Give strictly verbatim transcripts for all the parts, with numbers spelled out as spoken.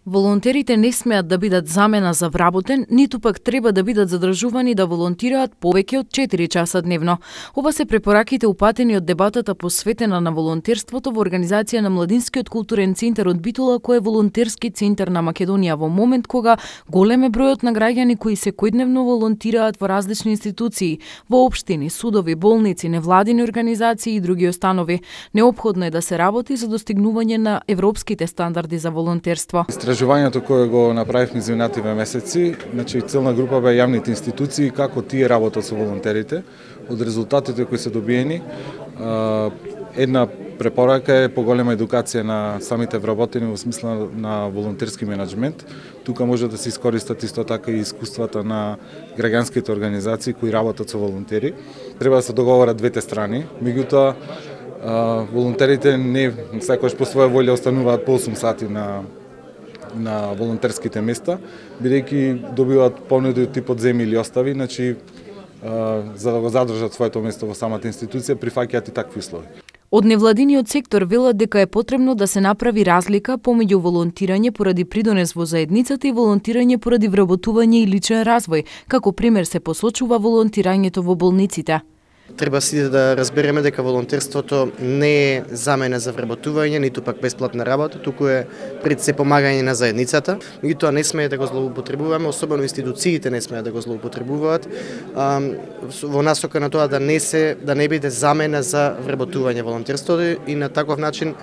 Волонтерите не смеат да бидат замена за вработен, ниту пак треба да бидат задржувани да волонтираат повеќе од четири часа дневно. Ова се препораките упатени од дебатата посветена на волонтерството во организација на Младинскиот културен центар од Битола, кој е волонтерски центар на Македонија во момент кога голем е бројот на граѓани кои секојдневно волонтираат во различни институции, во општини, судови, болници, невладини организации и други установи. Неопходно е да се работи за достигнување на европските стандарди за волонтерство. Истражувањето кое го направивме изминативе месеци, значи целна група бе јавните институции како тие работат со волонтерите. Од резултатите кои се добиени, една препорака е поголема едукација на самите вработени во смисла на волонтерски менеджмент. Тука може да се искористат исто така и искуствата на граѓанските организации кои работат со волонтери. Треба да се договорат двете страни, меѓутоа волонтерите не секогаш по своја волја остануваат по осум сати на на волонтерските места, бидејќи добиваат понуди од типот земи или остави, значи за да го задржат своето место во самата институција, прифаќаат и такви услови. Од невладиниот сектор велат дека е потребно да се направи разлика помеѓу волонтирање поради придонес во заедницата и волонтирање поради вработување и личен развој, како пример се посочува волонтирањето во болниците. Треба сите да разбереме дека волонтерството не е замена за вработување, ниту пак бесплатна работа, туку е пред се помагање на заедницата. Меѓутоа не смее да го злоупотребуваме, особено институциите не смеат да го злоупотребуваат во насока на тоа да не се да не биде замена за вработување волонтерството и на таков начин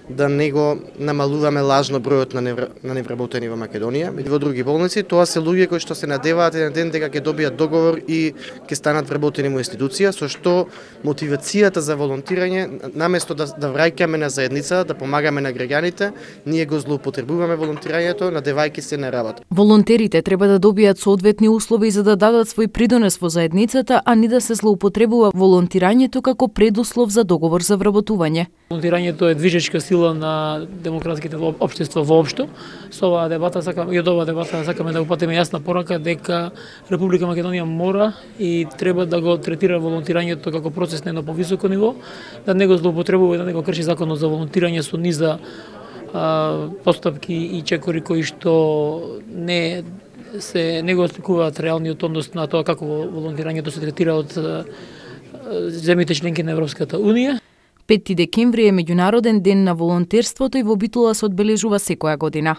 да не го намалуваме лажно бројот на невр... на невработени во Македонија. И во други болници тоа се луѓе кои што се надеваат еден ден дека ќе добијат договор и ќе станат вработени во институција, со што мотивацијата за волонтирање, наместо да, да враќаме на заедница, да помагаме на граѓаните, ние го злоупотребуваме волонтирањето, надевајќи се на работа. Волонтерите треба да добијат соодветни услови за да дадат свој придонес во заедницата, а не да се злоупотребува волонтирањето како предуслов за договор за вработување. Волонтирањето е движечка сила на демократските општества воопшто. Со оваа дебата сакаме и од оваа дебата сакаме да упатиме јасна порака дека Република Македонија мора и треба да го третира волонтирањето како процес на едно повисоко ниво, да не го злоупотребува и да не го крши законот за волонтирање со низа а, постапки и чекори кои што не се не го осликуваат реалниот однос на тоа како волонтирањето се третира од земјите членки на Европската унија. пети декември е меѓународен ден на волонтерството и во Битола се одбележува секоја година.